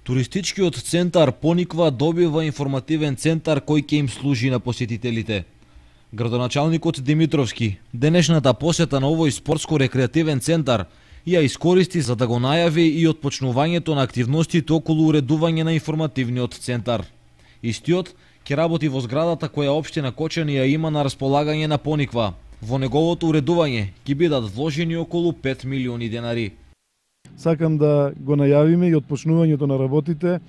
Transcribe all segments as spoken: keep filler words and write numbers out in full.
Туристичкиот центар Пониква добива информативен центар кој ќе им служи на посетителите. Градоначалникот Димитровски денешната посета на овој спортско-рекреативен центар ја искористи за да го најави и отпочнувањето на активностите околу уредување на информативниот центар. Истиот ќе работи во зградата која општина Кочани ја има на располагање на Пониква. Во неговото уредување ќе бидат вложени околу пет милиони денари. Сакам да го најавиме и отпочнувањето на работите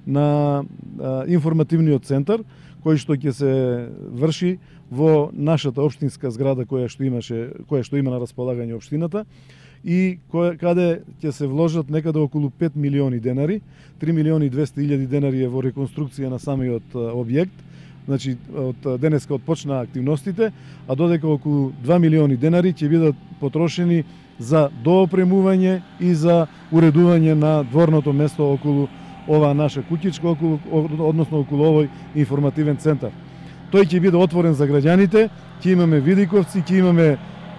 на а, информативниот центар, кој што ќе се врши во нашата општинска зграда која што имаше, која што има на располагање општината и која, каде ќе се вложат некаде околу пет милиони денари, три милиони и двесте илјади денари е во реконструкција на самиот објект. Значи, од денеска отпочнаа активностите, а додека околу два милиони денари ќе бидат потрошени за доопремување и за уредување на дворното место околу ова наша куќичка, околу, односно околу овој информативен центар. Тој ќе биде отворен за граѓаните, ќе имаме видиковци, ќе имаме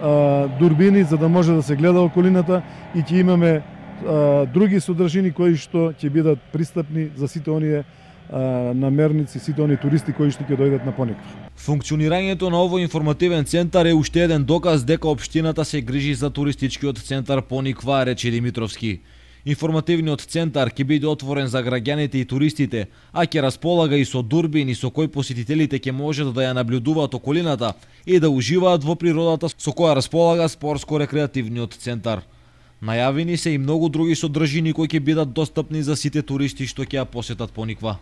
а, дурбини за да може да се гледа околината и ќе имаме а, други содржини кои што ќе бидат пристапни за сите оние намерници, сите оние туристи кои што ќе дојдат на Пониква. Функционирањето на овој информативен центар е уште еден доказ дека општината се грижи за туристичкиот центар Пониква, рече Димитровски. Информативниот центар ќе биде отворен за граѓаните и туристите, а ќе располага и со дурбини со кои посетителите ќе можат да ја наблюдуваат околината и да уживаат во природата со која располага спортско-рекреативниот центар. Најавени се и многу други содржини кои ќе бидат достапни за сите туристи што ќе ја посетат Пониква.